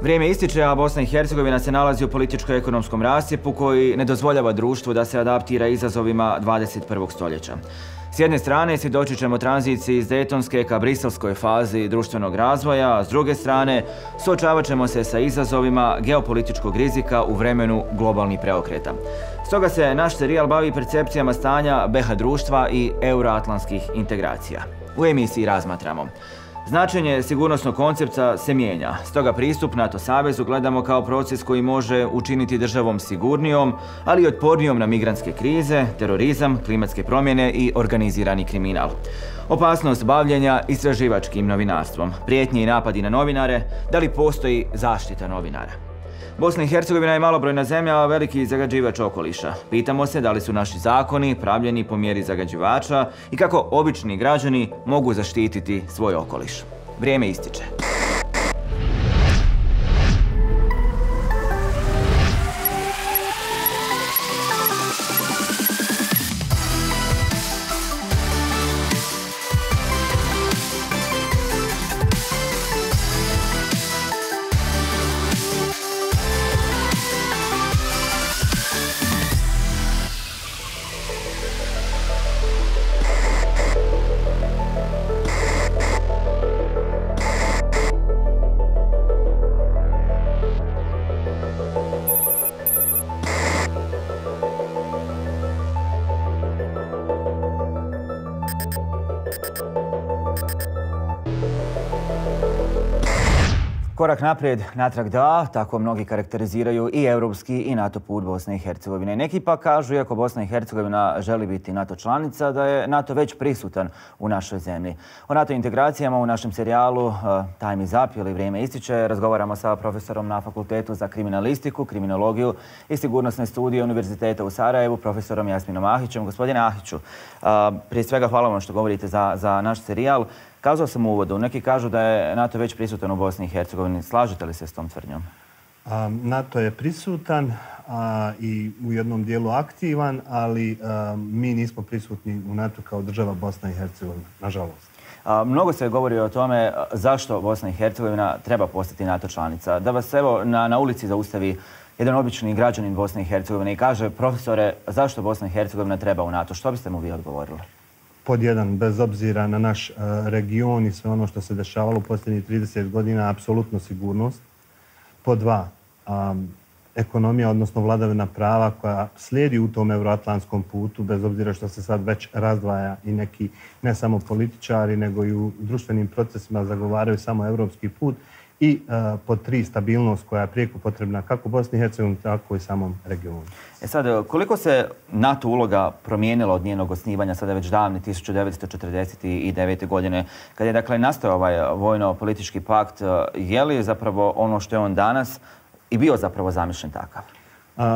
Vrijeme ističe, a Bosna i Hercegovina se nalazi u političko-ekonomskom rascjepu koji ne dozvoljava društvu da se adaptira izazovima 21. stoljeća. S jedne strane svjedočit ćemo tranziciji iz dejtonske ka briselskoj fazi društvenog razvoja, a s druge strane suočavat ćemo se sa izazovima geopolitičkog rizika u vremenu globalnih preokreta. Stoga se naš serijal bavi percepcijama stanja BiH društva i euroatlantskih integracija. U emisiji razmatramo: značenje sigurnosnog koncepta se mijenja, stoga pristup NATO savezu gledamo kao proces koji može učiniti državom sigurnijom, ali i otpornijom na migrantske krize, terorizam, klimatske promjene i organizirani kriminal. Opasnost bavljenja istraživačkim novinarstvom, prijetnje i napadi na novinare, da li postoji zaštita novinara. Bosna i Hercegovina je malobrojna zemlja, a veliki zagađivač okoliša. Pitamo se da li su naši zakoni pravljeni po mjeri zagađivača i kako obični građani mogu zaštititi svoj okoliš. Vrijeme ističe. Korak naprijed, natrag da, tako mnogi karakteriziraju i europski i NATO put Bosne i Hercegovine. Neki pa kažu, iako Bosna i Hercegovina želi biti NATO članica, da je NATO već prisutan u našoj zemlji. O NATO integracijama u našem serijalu Time is up ili Vrijeme ističe razgovaramo sa profesorom na Fakultetu za kriminalistiku, kriminologiju i sigurnosne studije Univerziteta u Sarajevu, profesorom Jasminom Ahićem. Gospodine Ahiću, prije svega hvala vam što govorite za naš serijal. Kazao sam u uvodu, neki kažu da je NATO već prisutan u Bosni i Hercegovini. Slažete li se s tom tvrdnjom? NATO je prisutan i u jednom dijelu aktivan, ali mi nismo prisutni u NATO kao država Bosna i Hercegovina, nažalost. Mnogo se govori o tome zašto Bosna i Hercegovina treba postati NATO članica. Da vas evo na ulici zaustavi jedan obični građanin Bosne i Hercegovine i kaže: profesore, zašto Bosna i Hercegovina treba u NATO? Što biste mu vi odgovorili? Pod jedan, bez obzira na naš region i sve ono što se dešavalo u posljednjih 30 godina, apsolutno sigurnost. Pod dva, ekonomija, odnosno vladavina prava koja slijedi u tom euroatlantskom putu, bez obzira što se sad već razdvaja i neki, ne samo političari, nego i u društvenim procesima zagovaraju samo evropski put. I pod tri, stabilnost koja je prijeko potrebna kako Bosni i Hercegovini, tako i samom regionu. Sad, koliko se NATO uloga promijenila od njenog osnivanja, sada već davne 1949. godine, kad je dakle nastao ovaj vojno-politički pakt, je li zapravo ono što je on danas i bio zapravo zamišljen takav?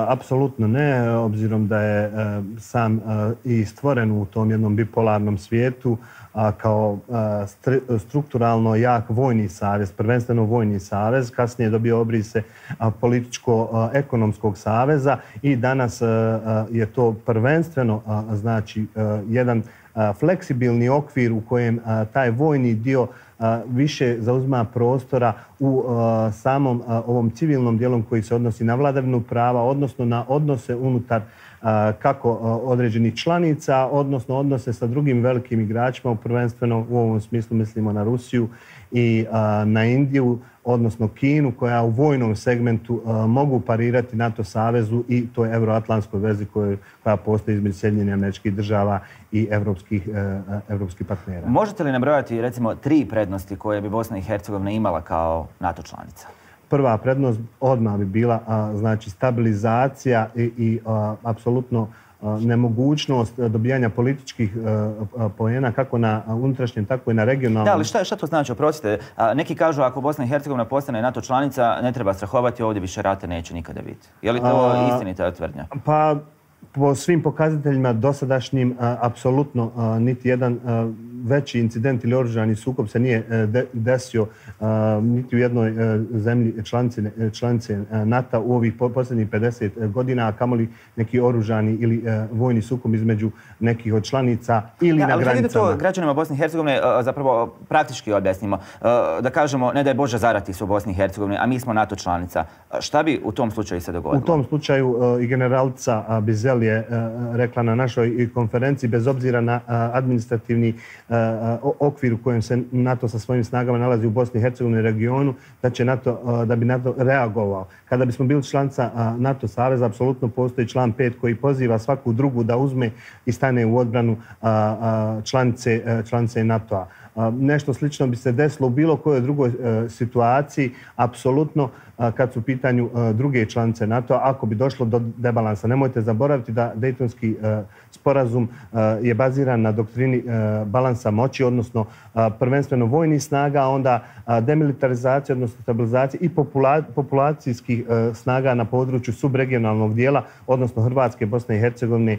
Apsolutno ne, obzirom da je sam i stvoren u tom jednom bipolarnom svijetu kao strukturalno jak vojni savez, prvenstveno vojni savez, kasnije je dobio obrise političko-ekonomskog saveza i danas je to prvenstveno znači jedan fleksibilni okvir u kojem taj vojni dio više zauzima prostora u samom ovom civilnom dijelom koji se odnosi na vladavinu prava, odnosno na odnose unutar kako određenih članica, odnosno odnose sa drugim velikim igračima, prvenstveno u ovom smislu mislimo na Rusiju i na Indiju, odnosno Kinu, koja u vojnom segmentu mogu parirati NATO savezu i toj euroatlantskoj vezi koja postoji između Sjedinjenih Američkih Država i evropskih partnera. Možete li nabrojati recimo 3 prednosti koje bi Bosna i Hercegovina imala kao NATO članica? Prva prednost odmah bi bila znači stabilizacija i apsolutno nemogućnost dobijanja političkih poena kako na unutrašnjem, tako i na regionalnom. Da, ali šta to znači? Oprostite, neki kažu ako Bosna i Hercegovina postane NATO članica, ne treba strahovati, ovdje više rata neće nikada biti. Je li to istinita tvrdnja? Pa po svim pokazateljima dosadašnjim, apsolutno niti jedan veći incident ili oružani sukob se nije desio niti u jednoj zemlji članice NATO u ovih posljednjih 50 godina, a kamoli neki oružani ili vojni sukob između nekih od članica ili na granicama. Ali to građanima Bosne i Hercegovine zapravo praktički objasnimo. Da kažemo, ne daj Bože zarati su u Bosni i Hercegovini, a mi smo NATO članica. Šta bi u tom slučaju se dogodilo? U tom slučaju i generalica Bizel je rekla na našoj konferenciji, bez obzira na administrativni okvir u kojem se NATO sa svojim snagama nalazi u Bosni i Hercegovini regionu, da bi NATO reagovao. Kada bismo bili članica NATO saveza, apsolutno postoji član 5 koji poziva svaku drugu da uzme i stane u odbranu članice NATO-a. Nešto slično bi se desilo u bilo kojoj drugoj situaciji, apsolutno kad su u pitanju druge članice NATO-a, ako bi došlo do debalansa. Nemojte zaboraviti da Dejtonski sporazum je baziran na doktrini balansa moći, odnosno prvenstveno vojnih snaga, a onda demilitarizacije, odnosno stabilizacije i populacijskih snaga na području subregionalnog dijela, odnosno Hrvatske, Bosne i Hercegovine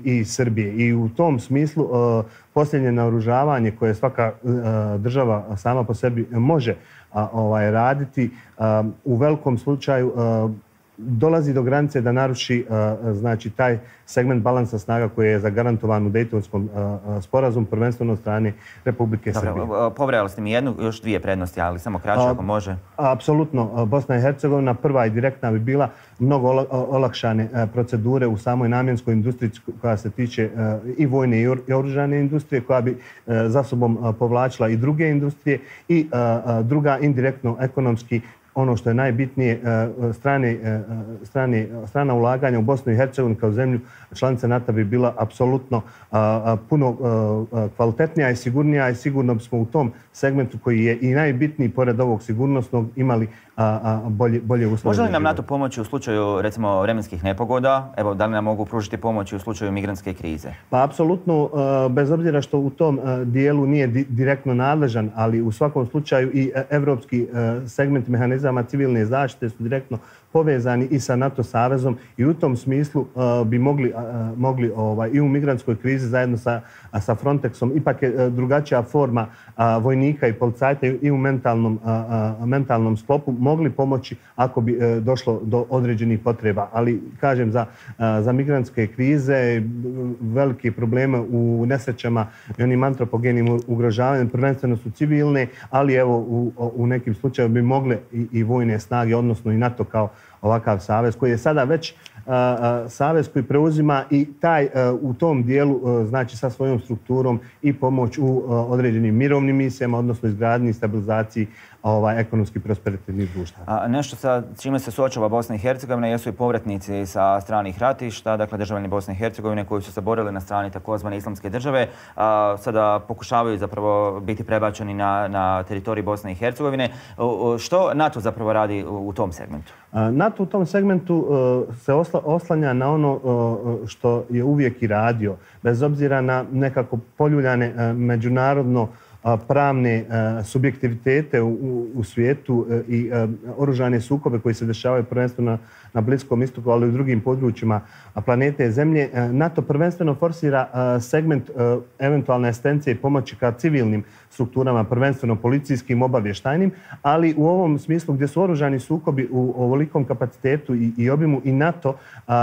i Srbije. I u tom smislu posljednje naoružavanje koje svaka država sama po sebi može raditi, u velikom slučaju dolazi do granice da naruši taj segment balansa snaga koji je zagarantovan u Dejtonskom sporazumu, prvenstveno od strane Republike Srbije. Pobrojali ste mi jednu, još dvije prednosti, ali samo kraće ako može. Apsolutno. Bosna i Hercegovina prva i direktna bi bila mnogo olakšane procedure u samoj namjenskoj industriji koja se tiče i vojne i oružane industrije, koja bi za sobom povlačila i druge industrije i druga indirektno ekonomski, ono što je najbitnije, strana ulaganja u Bosnu i Hercegovinu kao zemlju članica NATO bi bila apsolutno puno kvalitetnija i sigurnija i sigurno bismo u tom segmentu koji je i najbitniji pored ovog sigurnosnog imali bolje uslove. Može li nam NATO pomoći u slučaju recimo vremenskih nepogoda? Evo, da li nam mogu pružiti pomoć u slučaju migrantske krize? Pa apsolutno, bez obzira što u tom dijelu nije direktno nadležan, ali u svakom slučaju i evropski segment mehanizama civilne zaštite su direktno povezani i sa NATO savezom i u tom smislu bi mogli i u migrantskoj krizi zajedno sa Frontexom, ipak je drugačija forma vojnika i policajta i u mentalnom sklopu, mogli pomoći ako bi došlo do određenih potreba. Ali, kažem, za migrantske krize, velike probleme u nesrećama i onim antropogenim ugrožavanjem, prvenstveno su civilne, ali evo u nekim slučajevima bi mogle i vojne snage, odnosno i NATO kao ovakav savez, koji je sada već savez koji preuzima i taj u tom dijelu, znači sa svojom strukturom i pomoć u određenim mirovnim misijama, odnosno izgradnji i stabilizaciji ekonomski prosperitetnih društva. Nešto sa čime se suočava Bosna i Hercegovina jesu i povratnici sa stranih ratišta, dakle državljani Bosne i Hercegovine koji su se borili na strani takozvane islamske države, sada pokušavaju zapravo biti prebačeni na teritoriji Bosne i Hercegovine. Što NATO zapravo radi u tom segmentu? NATO u tom segmentu se oslanja na ono što je uvijek i radio, bez obzira na nekako poljuljane međunarodno pravne subjektivitete u svijetu i oružane sukobe koji se dešavaju prvenstveno na Bliskom istoku, ali i u drugim područjima planete Zemlje. NATO prvenstveno forsira segment eventualne asistencije i pomoći ka civilnim strukturama, prvenstveno policijskim, obavještajnim, ali u ovom smislu gdje su oružani sukobi u ovolikom kapacitetu i obimu i NATO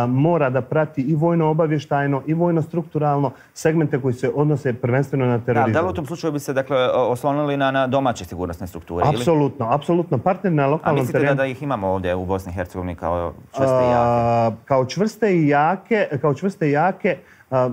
mora da prati i vojno-obavještajno i vojno-strukturalno segmente koji se odnose prvenstveno na terorizam. Da li u tom slučaju bi se oslonili na domaće sigurnosne strukture? Apsolutno. Partner na lokalnom terenu. A mislite da ih imamo ovdje u Bosni i Hercegovini kao čvrste i jake? Kao čvrste i jake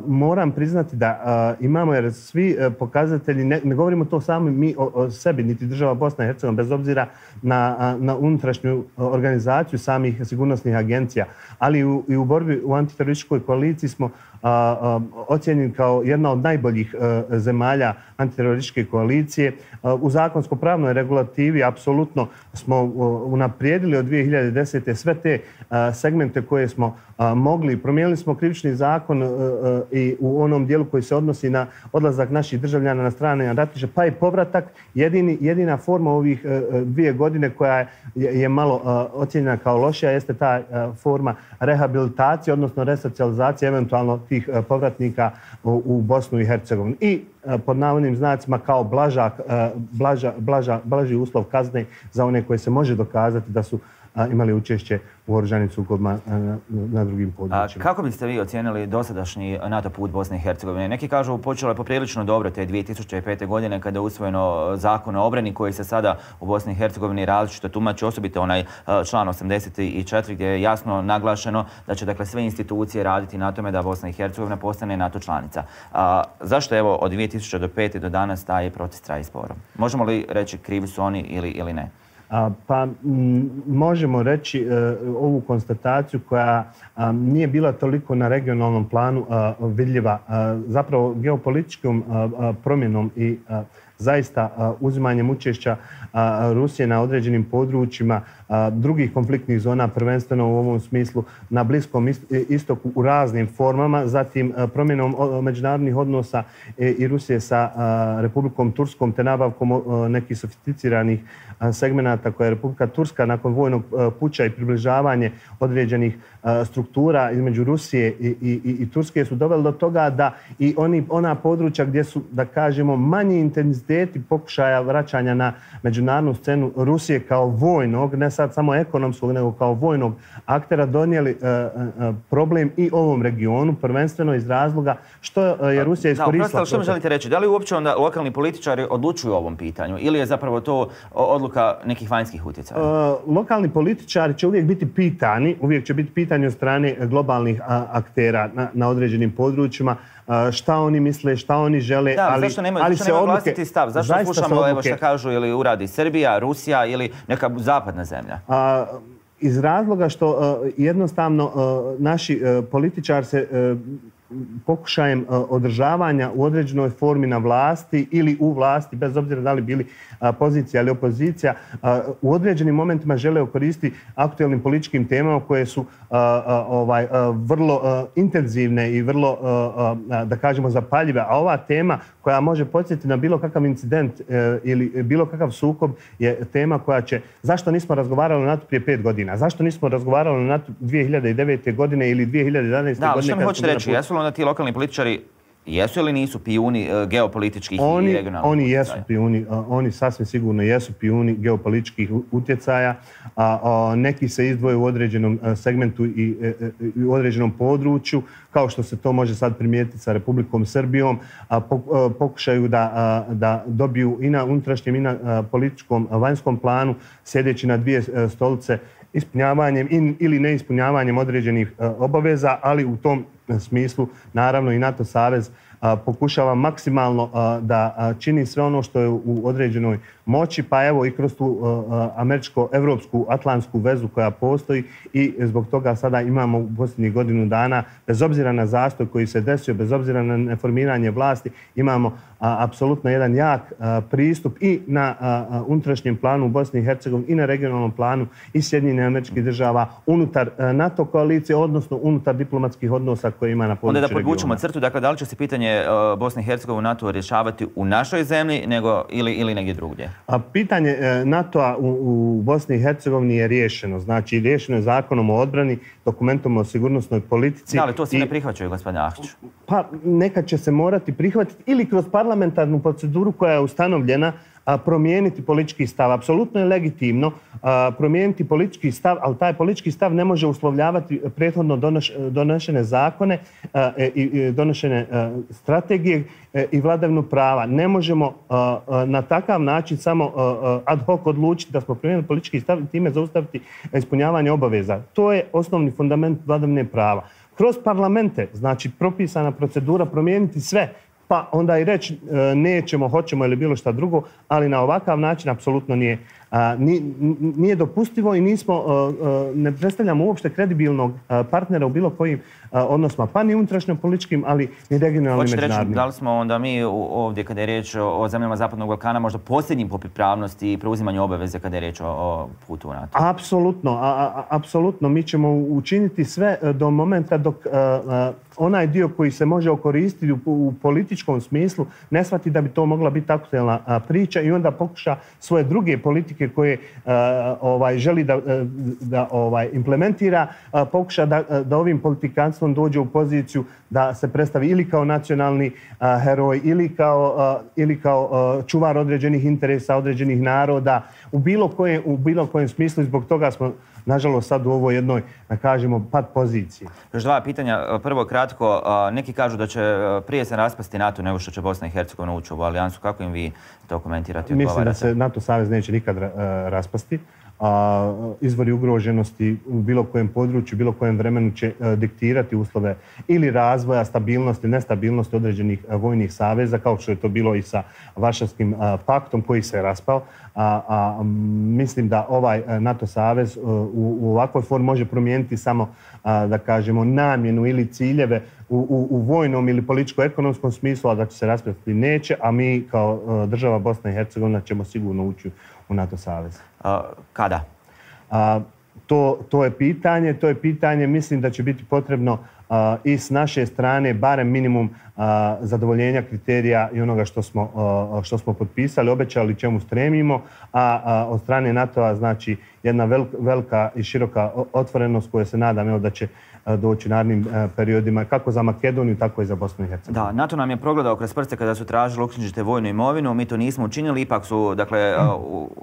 moram priznati da imamo, jer svi pokazatelji, ne govorimo to samo mi o sebi, niti država Bosna i Hercegovina, bez obzira na unutrašnju organizaciju samih sigurnosnih agencija, ali i u borbi u antiterorističkoj koaliciji smo ocijenjeni kao jedna od najboljih zemalja antiterorističke koalicije. U zakonsko-pravnoj regulativi apsolutno smo unaprijedili od 2010. sve te segmente koje smo mogli. Promijenili smo krivični zakon i u onom dijelu koji se odnosi na odlazak naših državljana na strane ratišta, pa i povratak. Jedina forma ovih 2 godine koja je malo ocijenjena kao lošija jeste ta forma rehabilitacije, odnosno resocijalizacije eventualno tih povratnika u Bosnu i Hercegovinu. I pod navodnim znacima kao blaži uslov kazne za one koje se može dokazati da su imali učešće u oružanim sukobima na drugim područjima. Kako biste vi ocijenili dosadašnji NATO put Bosne i Hercegovine? Neki kažu počelo je poprilično dobro te 2005. godine kada je usvojeno zakon o obrani koji se sada u Bosni i Hercegovini različito tumači, osobito onaj član 84 gdje je jasno naglašeno da će dakle sve institucije raditi na tome da Bosna i Hercegovina postane NATO članica. Zašto evo od 2005. do danas taj proces traje sporo? Možemo li reći krivi su oni ili ne? Pa možemo reći ovu konstataciju koja nije bila toliko na regionalnom planu vidljiva. Zapravo geopolitičkom promjenom i zaista uzimanjem učešća Rusije na određenim područjima drugih konfliktnih zona, prvenstveno u ovom smislu na Bliskom istoku u raznim formama, zatim promjenom međunarodnih odnosa i Rusije sa Republikom Turskom te nabavkom nekih sofisticiranih segmenata koje je Republika Turska nakon vojnog puča i približavanje određenih struktura između Rusije i Turske su doveli do toga da i ona područja gdje su, da kažemo, manji intenziteti pokušaja vraćanja na međunarodnu scenu Rusije kao vojnog, ne sad samo ekonomskog, nego kao vojnog aktera donijeli problem i ovom regionu, prvenstveno iz razloga što je Rusija iskoristila. Što mi želite reći? Da li uopće onda lokalni političari odlučuju o ovom pitanju ili je zapravo to odluka nekih vanjskih utjecaja? Lokalni političari će uvijek biti pitani, od strane globalnih aktera na određenim područjima, šta oni misle, šta oni žele, zašto nemaju vlastiti stav? Zašto slušamo evo šta kažu ili uradi Srbija, Rusija ili neka zapadna zemlja? Iz razloga što jednostavno naši političari se pokušajem održavanja u određenoj formi na vlasti ili u vlasti, bez obzira da li bili pozicija ili opozicija, u određenim momentima žele koristiti aktuelnim političkim temama koje su vrlo intenzivne i vrlo, da kažemo, zapaljive. A ova tema koja može podsjetiti na bilo kakav incident ili bilo kakav sukob je tema koja će... Zašto nismo razgovarali o NATO prije 5 godina? Zašto nismo razgovarali o NATO 2009. godine ili 2011. godine? Da, ali što mi hoćete reći? Jesu li onda ti lokalni političari jesu ili nisu pijuni geopolitičkih i regionalnih? Oni jesu pijuni, oni sasvim sigurno jesu pijuni geopolitičkih utjecaja. Neki se izdvoje u određenom segmentu i u određenom području, kao što se to može sad primijetiti sa Republikom Srbijom, pokušaju da dobiju i na unutrašnjem i na političkom vanjskom planu, sjedeći na dvije stolice, ispunjavanjem ili neispunjavanjem određenih obaveza, ali u tom smislu naravno i NATO savez pokušava maksimalno da čini sve ono što je u određenoj moći, pa evo i kroz tu američko-evropsku atlantsku vezu koja postoji i zbog toga sada imamo u posljednjih godinu dana, bez obzira na zastoj koji se desio, bez obzira na neformiranje vlasti, imamo apsolutno jedan jak pristup i na unutrašnjem planu u Bosni i Hercegovini i na regionalnom planu i Sjedinjenih Američkih Država unutar NATO koalicije, odnosno unutar diplomatskih odnosa koje ima na području regiona. Onda da podvučemo crtu, dakle, da li će se pitanje Bosne i Hercegovine u NATO rješavati u našoj zemlji ili negdje drugdje? Pitanje NATO-a u Bosni i Hercegovini je riješeno. Znači, riješeno je zakonom o odbrani, dokumentom o sigurnosnoj politici. Da, ali to se ne prihvaćaju, gospodine Ahtiću? Pa nekad će se morati prihvatiti ili kroz parlamentarnu proceduru koja je ustanovljena promijeniti politički stav. Apsolutno je legitimno promijeniti politički stav, ali taj politički stav ne može uslovljavati prethodno donošene zakone i donošene strategije i vladavinu prava. Ne možemo na takav način samo ad hoc odlučiti da smo promijenili politički stav i time zaustaviti ispunjavanje obaveza. To je osnovni fundament vladavine prava. Kroz parlamente, znači propisana procedura, promijeniti sve, pa onda i reći nećemo, hoćemo ili bilo šta drugo, ali na ovakav način apsolutno nije dopustivo i ne predstavljamo uopšte kredibilnog partnera u bilo kojim odnosima, pa ni unutrašnjom političkim, ali ni regionalnim međunarodnim. Hoćete reći, da li smo onda mi ovdje, kada je riječ o zemljama Zapadnog Balkana, možda posljednjim po pripravnosti i preuzimanju obaveze kada je riječ o putu u NATO? Apsolutno. Mi ćemo učiniti sve do momenta dok onaj dio koji se može okoristiti u političkom smislu ne shvati da bi to mogla biti aktuelna priča i onda pokuša svoje druge politike politike koje želi da implementira, pokuša da ovim politikanstvom dođe u poziciju da se predstavi ili kao nacionalni heroj ili kao čuvar određenih interesa, određenih naroda u bilo kojem smislu i zbog toga smo nažalost sad u ovoj jednoj, da kažemo, pad poziciji. Još dva pitanja. Prvo kratko, neki kažu da će prije se raspasti NATO nego što će Bosna i Hercegovina ući u ovu alijansu. Kako im vi to komentirate? Mislim da se NATO savez neće nikad raspasti. Izvori ugroženosti u bilo kojem području, bilo kojem vremenu će diktirati uslove ili razvoja, stabilnosti, nestabilnosti određenih vojnih saveza, kao što je to bilo i sa Varšavskim paktom koji se je raspao. Mislim da ovaj NATO savez u ovakvoj formi može promijeniti samo, da kažemo, namjenu ili ciljeve u vojnom ili političko-ekonomskom smislu, a da će se raspasti neće, a mi kao država Bosna i Hercegovina ćemo sigurno ući u NATO savez. Kada? To je pitanje. Mislim da će biti potrebno i s naše strane barem minimum zadovoljenja kriterija i onoga što smo potpisali, obećali, čemu stremimo, a od strane NATO-a znači jedna velika i široka otvorenost koja se nadam da će doći u narednim periodima kako za Makedoniju, tako i za Bosnu i Hercegovinu. Da, NATO nam je progledao kroz prste kada su tražili uknjižite vojnu imovinu, mi to nismo učinili, ipak su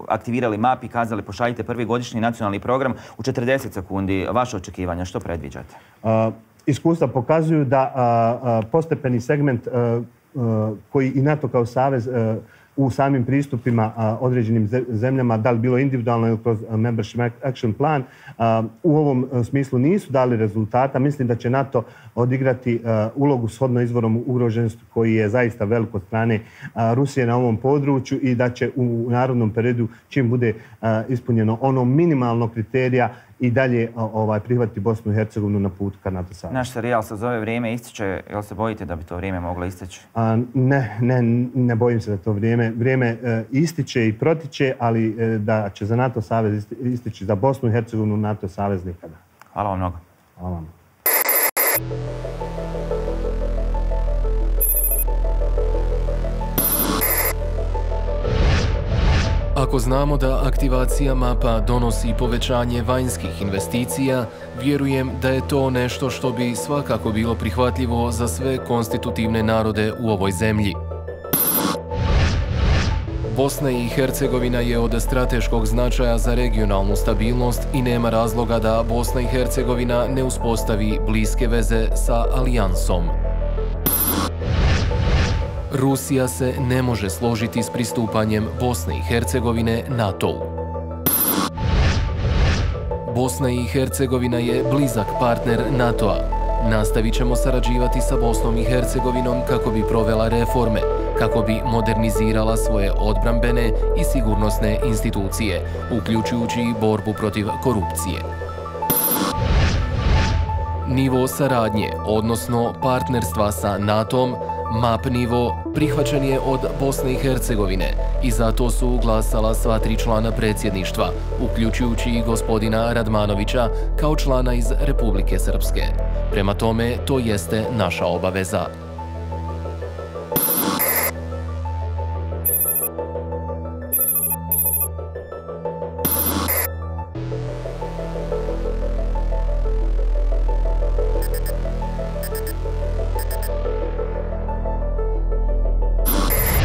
aktivirali MAP i kazali pošaljite prvi godišnji nacionalni program u 40 sekundi. Vaše očekivanja, što predviđate? Iskustva pokazuju da postepeni segment koji i NATO kao savez u samim pristupima određenim zemljama, da li bilo individualno ili kroz Membership Action Plan, u ovom smislu nisu dali rezultata. Mislim da će NATO odigrati ulogu shodno izvorom ugroženosti koji je zaista velik od strane Rusije na ovom području i da će u narodnom periodu, čim bude ispunjeno ono minimalno kriterija, i dalje prihvatiti Bosnu i Hercegovinu na putu ka NATO savezu. Naš serijal se zove Vrijeme ističe. Jel se bojite da bi to vrijeme moglo isteći? Ne bojim se da to vrijeme ističe i protiče, ali da će za NATO savez istići za Bosnu i Hercegovinu NATO savez nikada. Hvala vam mnogo. Hvala vam. Ako znamo da aktivacija MAP-a donosi povećanje vanjskih investicija, vjerujem da je to nešto što bi svakako bilo prihvatljivo za sve konstitutivne narode u ovoj zemlji. Bosna i Hercegovina je od strateškog značaja za regionalnu stabilnost i nema razloga da Bosna i Hercegovina ne uspostavi bliske veze sa alijansom. Rusija se ne može složiti s pristupanjem Bosne i Hercegovine NATO-u. Bosna i Hercegovina je blizak partner NATO-a. Nastavit ćemo sarađivati sa Bosnom i Hercegovinom kako bi provela reforme, kako bi modernizirala svoje odbrambene i sigurnosne institucije, uključujući i borbu protiv korupcije. Nivo saradnje, odnosno partnerstva sa NATO-om, MAP nivo prihvaćen je od Bosne i Hercegovine i zato su glasala sva 3 člana predsjedništva, uključujući i gospodina Radmanovića kao člana iz Republike Srpske. Prema tome, to jeste naša obaveza.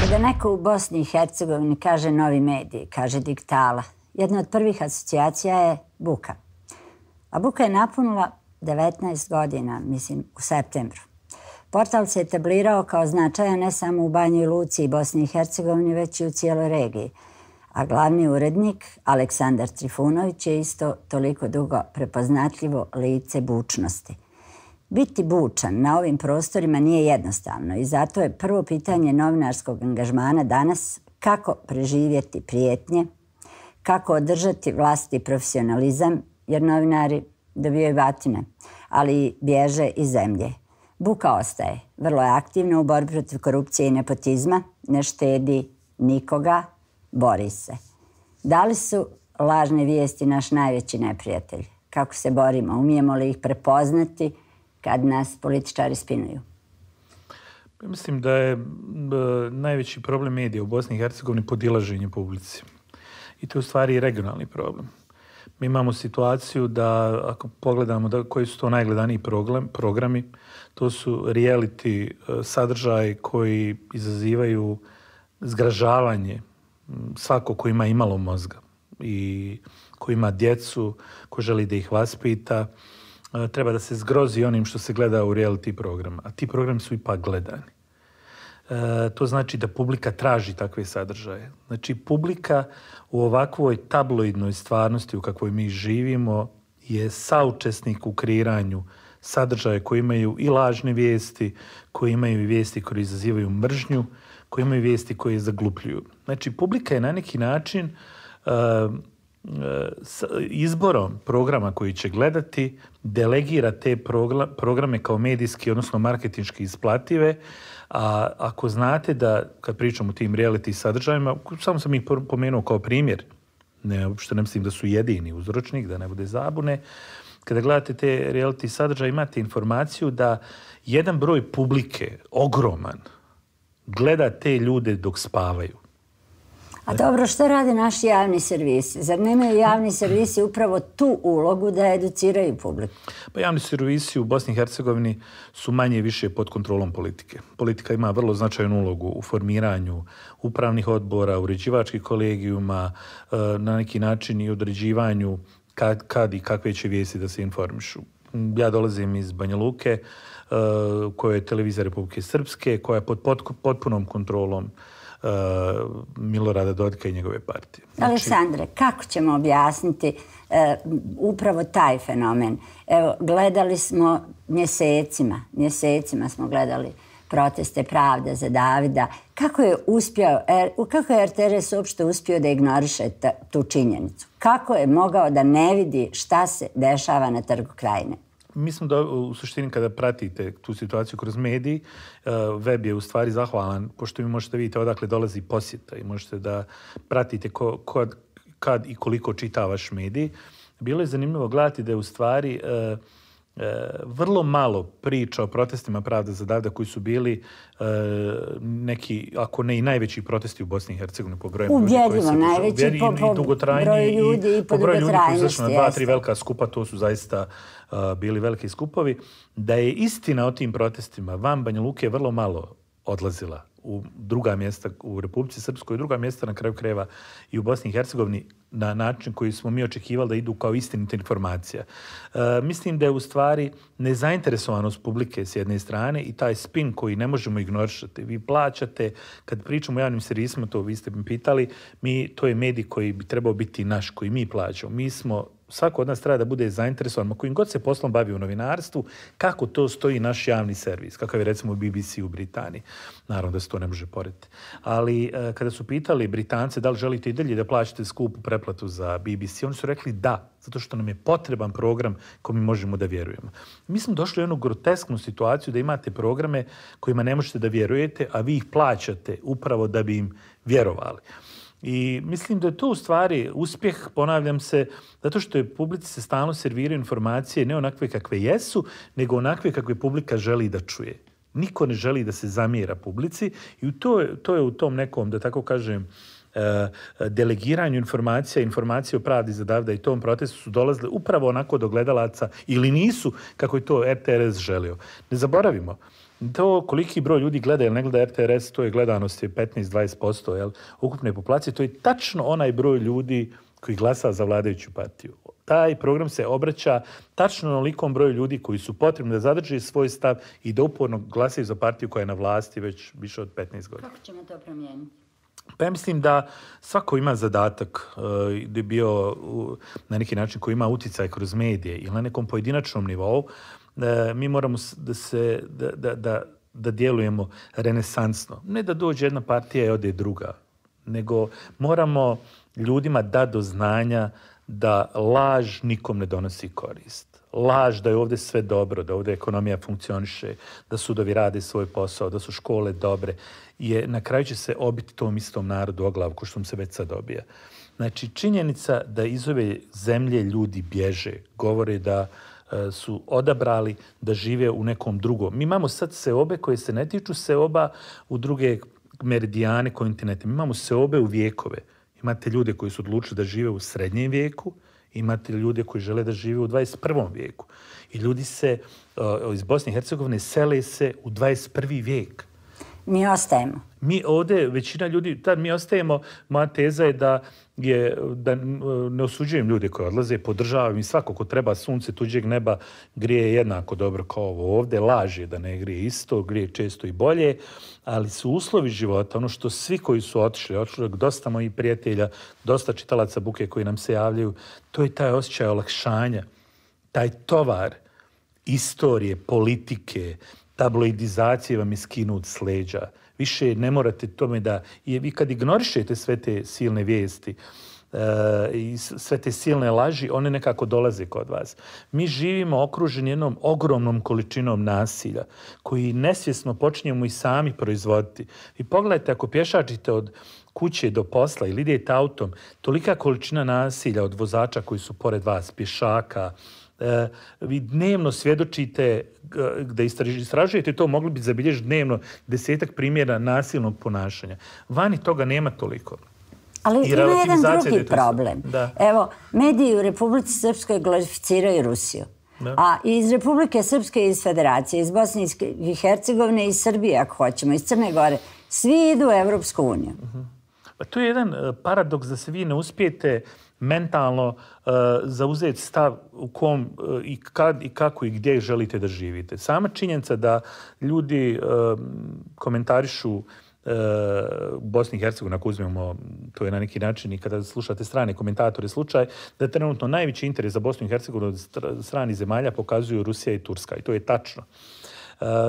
Kada neko u Bosni i Hercegovini kaže novi mediji, kaže digitala, jedna od prvih asocijacija je buka. A buka je napunila 19 godina, mislim, u septembru. Portal se etablirao kao značajan ne samo u Banji Luci i Bosni i Hercegovini, već i u cijeloj regiji. A glavni urednik, Aleksandar Trifunović, je isto toliko dugo prepoznatljivo lice bučnosti. Biti bučan na ovim prostorima nije jednostavno i zato je prvo pitanje novinarskog angažmana danas kako preživjeti prijetnje, kako održati vlastiti profesionalizam, jer novinari dobijaju batine, ali bježe iz zemlje. Buka ostaje, vrlo je aktivna u borbi protiv korupcije i nepotizma, ne štedi nikoga, bori se. Da li su lažne vijesti naš najveći neprijatelj? Kako se borimo? Umijemo li ih prepoznati kad nas političari spinuju? Mislim da je najveći problem medija u Bosni i Hercegovini podilaženje publici. i to je u stvari regionalni problem. Mi imamo situaciju da, ako pogledamo koji su to najgledaniji programi, to su reality sadržaji koji izazivaju zgražavanje svako ko ima imalo mozga i ko ima djecu, ko želi da ih vaspita, treba da se zgrozi onim što se gleda u reality programa. A ti programi su ipak gledani. To znači da publika traži takve sadržaje. Znači, publika u ovakvoj tabloidnoj stvarnosti u kakvoj mi živimo je saučesnik u kreiranju sadržaja koji imaju i lažne vijesti, koji imaju i vijesti koje izazivaju mržnju, koji imaju vijesti koje zaglupljuju. Znači, publika je na neki način izborom programa koji će gledati delegira te programe kao medijski, odnosno marketinški isplative. A ako znate da, kad pričam o tim reality sadržajima, samo sam ih pomenuo kao primjer, uopšte ne mislim da su jedini uzročnik, da ne bude zabune, kada gledate te reality sadržaje imate informaciju da jedan broj publike, ogroman, gleda te ljude dok spavaju. A dobro, što rade naši javni servisi? Zar nemaju javni servisi upravo tu ulogu da educiraju publiku? Pa javni servisi u Bosni i Hercegovini su manje i više pod kontrolom politike. Politika ima vrlo značajnu ulogu u formiranju upravnih odbora, uređivačkih kolegijuma, na neki način i određivanju kad i kakve će vijesti da se informišu. Ja dolazim iz Banja Luke, koja je televizija Republike Srpske, koja je pod potpunom kontrolom Milorada Dodika i njegove partije. Znači... Aleksandre, kako ćemo objasniti upravo taj fenomen? Evo, gledali smo mjesecima smo gledali proteste Pravde za Davida. Kako je RTRS uopšte uspio da ignoriše tu činjenicu? Kako je mogao da ne vidi šta se dešava na Trgu Krajine? Mislim da u suštini kada pratite tu situaciju kroz mediji, web je u stvari zahvalan, pošto vi možete vidjeti odakle dolazi posjeta i možete da pratite kad i koliko čita vaš medij. Bilo je zanimljivo gledati da je u stvari vrlo malo priča o protestima Pravde za Davida koji su bili neki, ako ne i najveći protesti u Bosni i Hercegovini po broju ljudi. Ubjedljivo najveći po broju ljudi i po dugotrajnosti. 2-3 velika skupa, to su zaista bili veliki skupovi. Da je istina o tim protestima van Banja Luke vrlo malo odlazila u druga mjesta u Republici Srpskoj, druga mjesta na kraju krajeva i u Bosni i Hercegovini na način koji smo mi očekivali da idu kao istinita informacija. Mislim da je u stvari nezainteresovanost publike s jedne strane i taj spin koji ne možemo ignorisati. Vi plaćate, kad pričamo o javnim servisima, to vi ste mi pitali, to je medij koji bi trebao biti naš, koji mi plaćamo. Mi smo, svako od nas treba da bude zainteresovan, kojim god se poslom bavi u novinarstvu, kako to stoji naš javni servis, kakav je recimo BBC u Britaniji. Naravno da se to ne može porediti. Ali kada su pitali Britance da li želite i dalje da plaćate skupu pretplatu za BBC, oni su rekli da, zato što nam je potreban program koji mi možemo da vjerujemo. Mi smo došli u jednu grotesknu situaciju da imate programe kojima ne možete da vjerujete, a vi ih plaćate upravo da bi im vjerovali. I mislim da je to u stvari uspjeh, ponavljam se, zato što je publici se stalno serviraju informacije ne onakve kakve jesu, nego onakve kakve publika želi da čuje. Niko ne želi da se zamjera publici i to je u tom nekom, da tako kažem, delegiranju informacije o Pravdi za Davida i tom protestu su dolazile upravo onako do gledalaca ili nisu kako je to RTRS želio. Ne zaboravimo, to koliki broj ljudi gleda ili ne gleda RTRS, to je gledanost je 15-20% ukupne populacije, to je tačno onaj broj ljudi koji glasa za vladajuću partiju. Taj program se obraća tačno onolikom broju ljudi koji su potrebni da zadrže svoj stav i da uporno glasaju za partiju koja je na vlasti već više od 15 godina. Kako ćemo to promijeniti? Pa ja mislim da svako ima zadatak da je bio na neki način koji ima uticaj kroz medije ili na nekom pojedinačnom nivou. Mi moramo da djelujemo renesansno. Ne da dođe jedna partija i ode druga, nego moramo ljudima dati do znanja da laž nikom ne donosi korist. Laž da je ovdje sve dobro, da ovdje ekonomija funkcioniše, da sudovi rade svoj posao, da su škole dobre, na kraju će se obiti tom istom narodu o glavu, ko što se već sad dobija. Znači, činjenica da iz ove zemlje ljudi bježe, govore da su odabrali da žive u nekom drugom. Mi imamo sad seobe koje se ne tiču seoba u druge meridijane kontinente. Mi imamo seobe u vijekove. Imate ljude koji su odlučili da žive u srednjem vijeku, imate ljude koji žele da žive u 21. vijeku. I ljudi se iz Bosne i Hercegovine sele se u 21. vijek. Mi ostajemo. Mi ovdje, većina ljudi, tad mi ostajemo, moja teza je da ne osuđujem ljude koji odlaze, podržavam i svako ko treba sunce tuđeg neba grije jednako dobro kao ovo ovdje. Laž je da ne grije isto, grije često i bolje, ali su uslovi života, ono što svi koji su otišli, dosta mojih prijatelja, dosta čitalaca Buke koji nam se javljaju, to je taj osjećaj olakšanja, taj tovar istorije, politike, tabloidizacije vam je skinut s leđa. Više ne morate tome da... Vi kad ignorišete sve te silne vijesti i sve te silne laži, one nekako dolaze kod vas. Mi živimo okruženi jednom ogromnom količinom nasilja koji nesvjesno počinjemo i sami proizvoditi. I pogledajte, ako pješačite od kuće do posla ili idete autom, tolika količina nasilja od vozača koji su pored vas, pješaka, vi dnevno svjedočite, da istražujete to, mogli bi zabilježiti dnevno 10 primjera nasilnog ponašanja. Vani toga nema toliko. Ali ima jedan drugi problem. Evo, mediji u Republici Srpskoj glorificiraju Rusiju. A iz Republike Srpske, iz Federacije, iz Bosne i Hercegovine, iz Srbije, ako hoćemo, iz Crne Gore, svi idu u Evropsku uniju. To je jedan paradoks da se vi ne uspijete mentalno zauzeti stav u kom i kad i kako i gdje želite da živite. Sama činjenica da ljudi komentarišu Bosni i Hercegovini, ako uzmemo, to je na neki način i kada slušate strane komentatore slučaj, da trenutno najveći interes za Bosnu i Hercegovinu od stranih zemalja pokazuju Rusija i Turska. I to je tačno.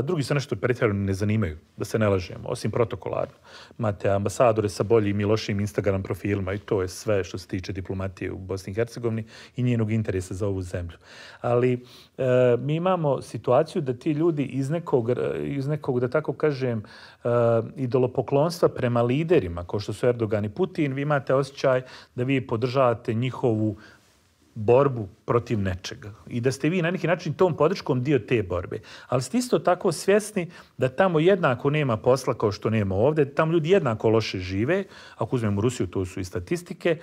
Drugi se nešto pretjerano ne zanimaju, da se ne lažemo, osim protokolarno. Imate ambasadore sa boljim i lošim Instagram profilima i to je sve što se tiče diplomatije u Bosni i Hercegovini i njenog interesa za ovu zemlju. Ali mi imamo situaciju da ti ljudi iz nekog da tako kažem, idolopoklonstva prema liderima, kao što su Erdogan i Putin, vi imate osjećaj da vi podržavate njihovu borbu protiv nečega. I da ste vi na neki način tom podrškom dio te borbe. Ali ste isto tako svjesni da tamo jednako nema posla kao što nema ovdje, tamo ljudi jednako loše žive, ako uzmemo Rusiju, to su i statistike,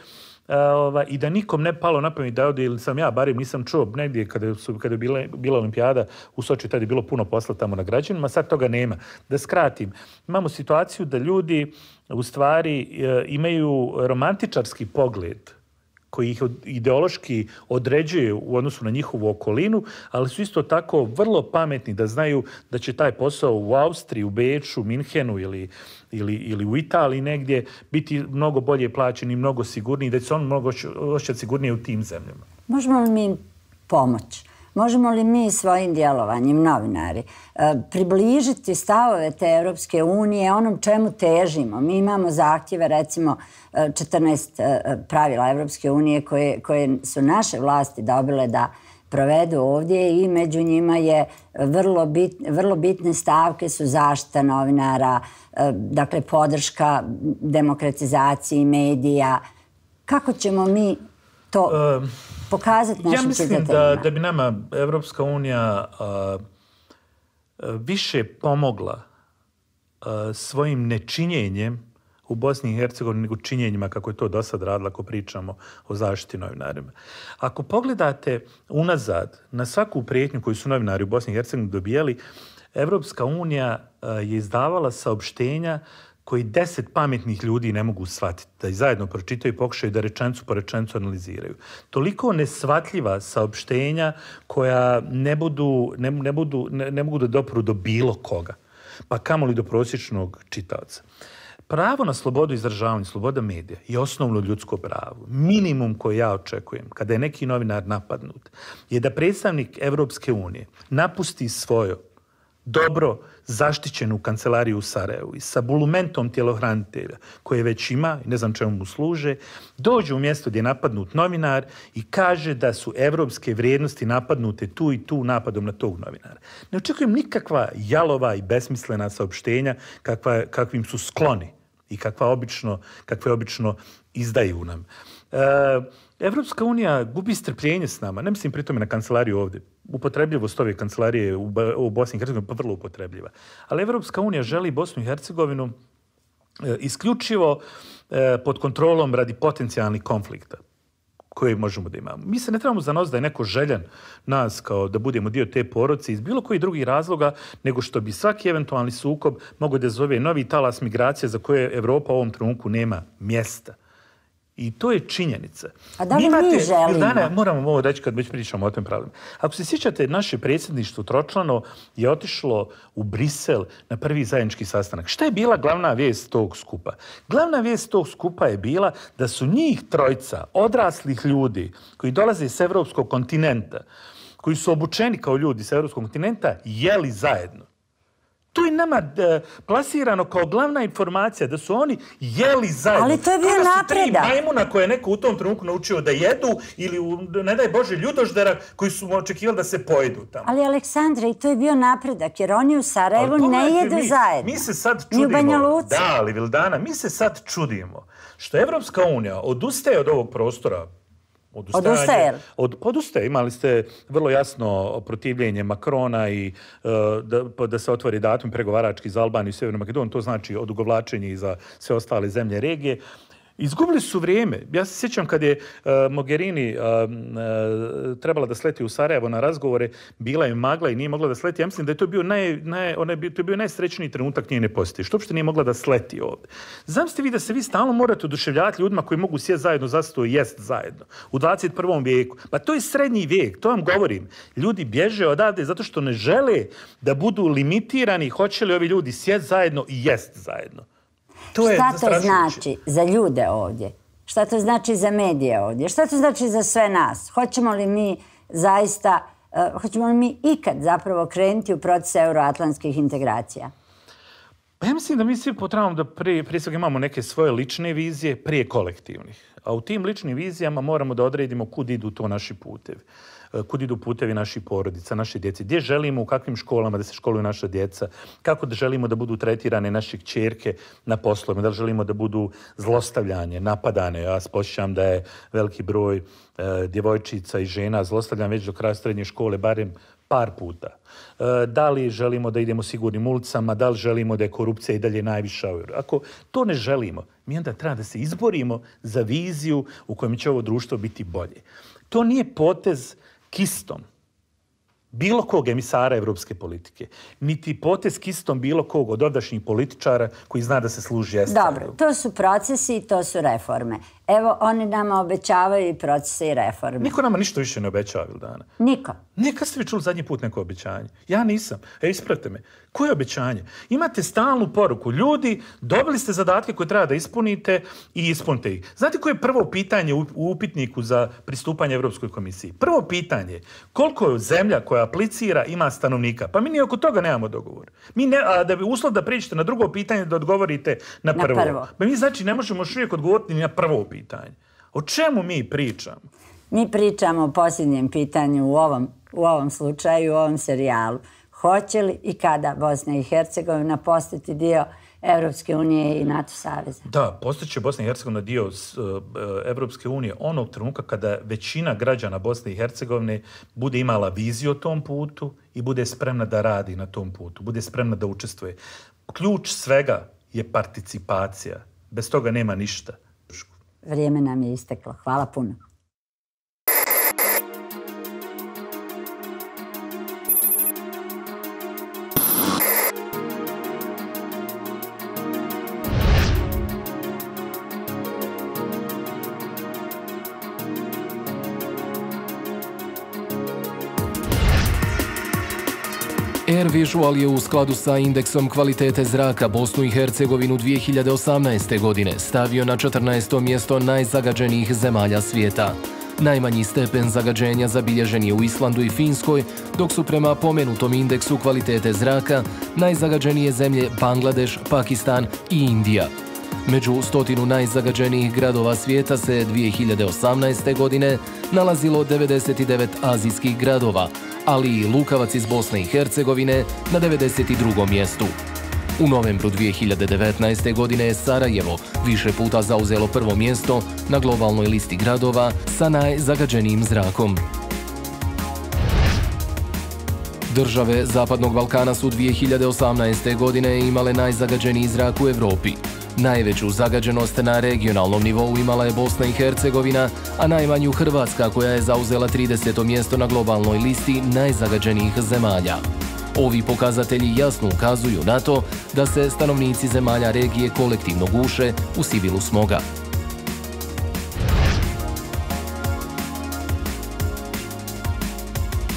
i da nikom ne palo na pamet da ovdje, ili sam ja, barem nisam čuo negdje kada je bila olimpijada u Soči, tada je bilo puno posla tamo na građanima, sad toga nema. Da skratim, imamo situaciju da ljudi u stvari imaju romantičarski pogled koji ih ideološki određuje u odnosu na njihovu okolinu, ali su isto tako vrlo pametni da znaju da će taj posao u Austriji, u Beču, Minhenu ili u Italiji negdje biti mnogo bolje plaćen i mnogo sigurniji, da će se on mnogo osjećati sigurnije u tim zemljama. Možemo li mi pomoći? Možemo li mi svojim djelovanjem, novinari, približiti stavove te Europske unije onom čemu težimo? Mi imamo zahtjeve, recimo 14 pravila Europske unije koje su naše vlasti dobile da provedu ovdje i među njima je vrlo bitne stavke su zaštita novinara, dakle podrška demokratizaciji medija. Kako ćemo mi to pokazati našim čitateljima? Ja mislim da bi nama Evropska unija više pomogla svojim nečinjenjem u Bosni i Hercegovini nego činjenjima kako je to do sad radila ako pričamo o zaštiti novinarima. Ako pogledate unazad na svaku prijetnju koju su novinari u Bosni i Hercegovini dobijali, Evropska unija je izdavala saopštenja koji 10 pametnih ljudi ne mogu shvatiti, da ih zajedno pročitaju i pokušaju da rečenicu po rečenicu analiziraju. Toliko neshvatljiva saopštenja koja ne mogu da dopru do bilo koga, pa kamoli do prosječnog čitaoca. Pravo na slobodu izražavanja, sloboda medija je osnovno ljudsko pravo. Minimum koji ja očekujem kada je neki novinar napadnut je da predstavnik Evropske unije napusti svoju dobro zaštićenu kancelariju u Sarajevu i sa bulumentom tjelohranitelja koje već ima i ne znam čemu mu služe, dođe u mjesto gdje je napadnut novinar i kaže da su evropske vrijednosti napadnute tu i tu napadom na tog novinara. Ne očekujem nikakva jalova i besmislena saopštenja kakvim su skloni i kakve obično izdaju nam. Evropska unija gubi strpljenje s nama, ne mislim pri tome na kancelariju ovdje. Upotrebljivost ove kancelarije u Bosni i Hercegovini pa vrlo upotrebljiva. Ali Evropska unija želi Bosnu i Hercegovinu isključivo pod kontrolom radi potencijalnih konflikta koje možemo da imamo. Mi se ne trebamo zanositi da je neko željan nas kao da budemo dio te porodice iz bilo kojih drugih razloga, nego što bi svaki eventualni sukob mogao da zove novi talas migracije za koje Evropa u ovom trenutku nema mjesta. I to je činjenica. A da li mi želimo? Ildana, moramo ovo reći kad već pričamo o tom pravilu. Ako se sjećate, naše predsjedništvo tročlano je otišlo u Brisel na prvi zajednički sastanak. Šta je bila glavna vijest tog skupa? Glavna vijest tog skupa je bila da su njih trojica odraslih ljudi koji dolaze s evropskog kontinenta, koji su obučeni kao ljudi s evropskog kontinenta, jeli zajedno. To je nama plasirano kao glavna informacija, da su oni jeli zajedno. Ali to je bio napredak. Kada su 3 majmuna koje je neko u tom trenutku naučio da jedu ili, ne daj Bože, ljudoždera koji su očekivali da se pojedu tamo. Ali, Aleksandra, i to je bio napredak, jer oni u Sarajevu ne jedu zajedno. Mi se sad čudimo. Ni u Banja Luci. Da, ali Vildana, mi se sad čudimo što Evropska unija odustaje od ovog prostora. Odustaje. Imali ste vrlo jasno protivljenje Makrona i da se otvori datum pregovarački za Albaniju i Sjevernu Makedoniju. To znači odugovlačenje i za sve ostale zemlje regije. Izgubili su vrijeme. Ja se sjećam kad je Mogherini trebala da sleti u Sarajevo na razgovore, bila je magla i nije mogla da sleti. Ja mislim da je to bio najsrećniji trenutak njene posjete. Što uopšte nije mogla da sleti ovdje. Zamislite vi da se vi stalno morate oduševljavati ljudima koji mogu sjesti zajedno, zato jest zajedno. U 21. vijeku. Pa to je srednji vijek, to vam govorim. Ljudi bježe odavde zato što ne žele da budu limitirani hoće li ovi ljudi sjesti zajedno i jest zajedno. Šta to znači za ljude ovdje? Šta to znači za medije ovdje? Šta to znači za sve nas? Hoćemo li mi ikad zapravo krenuti u proces euroatlantskih integracija? Pa ja mislim da mi svi potrebamo da prije svega imamo neke svoje lične vizije prije kolektivnih. A u tim ličnim vizijama moramo da odredimo kud idu to naši putevi. Kud idu putevi naših porodica, naše djece, gdje želimo, u kakvim školama da se školuju naša djeca, kako da želimo da budu tretirane naše kćerke na poslovima, da li želimo da budu zlostavljanje, napadane. Ja se posjećam da je veliki broj djevojčica i žena zlostavljan već do kraja srednje škole, barem par puta. Da li želimo da idemo sigurnim ulicama, da li želimo da je korupcija i dalje najviša. Ako to ne želimo, mi onda treba da se izborimo za viziju u kojem će ovo društvo biti bolje. To nije potez kistom bilo kog emisara evropske politike, niti potez kistom bilo kog od ovdašnjih političara koji zna da se služi estradom. Dobro, to su procesi i to su reforme. Evo, oni nama obećavaju i procese i reforme. Niko nama ništa više ne obećava, Vildana. Niko. Kad ste vi čuli zadnji put neko obećanje? Ja nisam. Ispravite me. Koje obećanje? Imate stalnu poruku. Ljudi, dobili ste zadatke koje treba da ispunite i ispunite ih. Znate koje je prvo pitanje u upitniku za pristupanje Evropskoj komisiji? Prvo pitanje, koliko je zemlja koja aplicira ima stanovnika? Pa mi ni oko toga nemamo dogovor. Da bi uslov da prijeđete na drugo pitanje da odgovorite na prvo. Pa mi znači ne možemo još uvijek odgovoriti ni na prvo pitanje. O čemu mi pričamo? Mi pričamo o posljednjem pitanju u ovom slučaju, u ovom serijalu. Hoće li i kada Bosna i Hercegovina postati dio Evropske unije i NATO saveza? Da, postaće Bosna i Hercegovina dio Evropske unije onog trenutka kada većina građana Bosne i Hercegovine bude imala viziju o tom putu i bude spremna da radi na tom putu, bude spremna da učestvuje. Ključ svega je participacija. Bez toga nema ništa. Vrijeme nam je isteklo. Hvala puno. Air Visual je u skladu sa indeksom kvalitete zraka Bosnu i Hercegovinu 2018. godine stavio na 14. mjesto najzagađenijih zemalja svijeta. Najmanji stepen zagađenja zabilježen je u Islandu i Finskoj, dok su prema pomenutom indeksu kvalitete zraka najzagađenije zemlje Bangladeš, Pakistan i Indija. Među 100 najzagađenijih gradova svijeta se 2018. godine nalazilo 99 azijskih gradova, ali i Lukavac iz Bosne i Hercegovine na 92. mjestu. U novembru 2019. godine je Sarajevo više puta zauzelo prvo mjesto na globalnoj listi gradova sa najzagađenijim zrakom. Države Zapadnog Balkana su 2018. godine imale najzagađeniji zrak u Evropi. Najveću zagađenost na regionalnom nivou imala je Bosna i Hercegovina, a najmanju Hrvatska koja je zauzela 30. mjesto na globalnoj listi najzagađenijih zemalja. Ovi pokazatelji jasno ukazuju na to da se stanovnici zemalja regije kolektivno guše u sivilu smoga.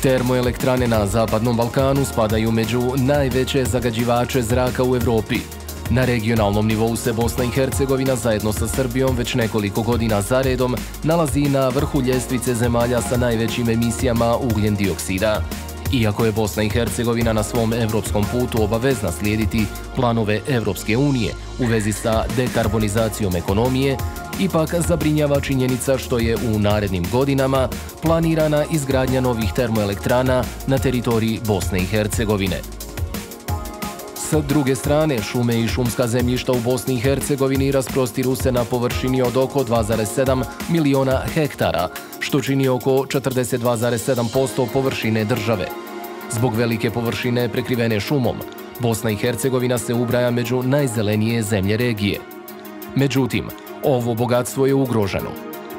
Termoelektrane na Zapadnom Balkanu spadaju među najveće zagađivače zraka u Evropi. Na regionalnom nivou se Bosna i Hercegovina zajedno sa Srbijom već nekoliko godina zaredom nalazi na vrhu ljestvice zemalja sa najvećim emisijama ugljen dioksida. Iako je Bosna i Hercegovina na svom evropskom putu obavezna slijediti planove Evropske unije u vezi sa dekarbonizacijom ekonomije, ipak zabrinjava činjenica što je u narednim godinama planirana izgradnja novih termoelektrana na teritoriji Bosne i Hercegovine. S druge strane, šume i šumska zemljišta u Bosni i Hercegovini rasprostiru se na površini od oko 2,7 miliona hektara, što čini oko 42,7% površine države. Zbog velike površine prekrivene šumom, Bosna i Hercegovina se ubraja među najzelenije zemlje regije. Međutim, ovo bogatstvo je ugroženo.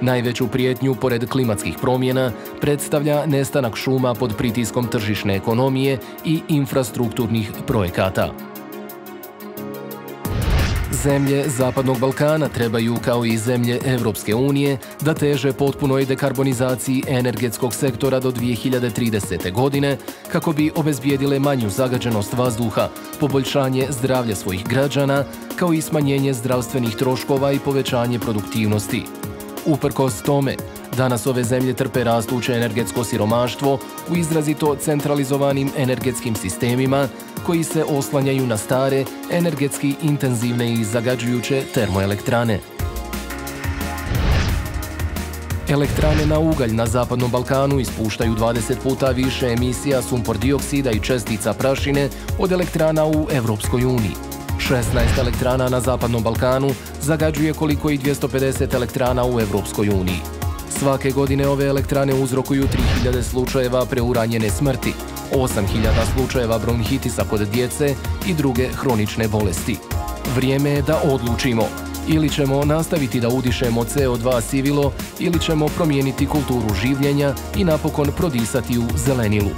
Najveću prijetnju, pored klimatskih promjena, predstavlja nestanak šuma pod pritiskom tržišne ekonomije i infrastrukturnih projekata. Zemlje Zapadnog Balkana trebaju, kao i zemlje Evropske unije, da teže potpunoj dekarbonizaciji energetskog sektora do 2030. godine, kako bi obezbijedile manju zagađenost vazduha, poboljšanje zdravlja svojih građana, kao i smanjenje zdravstvenih troškova i povećanje produktivnosti. Uprkos tome, danas ove zemlje trpe rastuće energetsko siromaštvo u izrazito centralizovanim energetskim sistemima koji se oslanjaju na stare, energetski intenzivne i zagađujuće termoelektrane. Elektrane na ugalj na Zapadnom Balkanu ispuštaju 20 puta više emisija sumpor dioksida i čestica prašine od elektrana u Evropskoj uniji. 16 elektrana na Zapadnom Balkanu zagađuje koliko i 250 elektrana u Evropskoj uniji. Svake godine ove elektrane uzrokuju 3000 slučajeva preuranjene smrti, 8000 slučajeva bronhitisa kod djece i druge hronične bolesti. Vrijeme je da odlučimo. Ili ćemo nastaviti da udišemo CO2 sivilo, ili ćemo promijeniti kulturu življenja i napokon prodisati u zelenilu.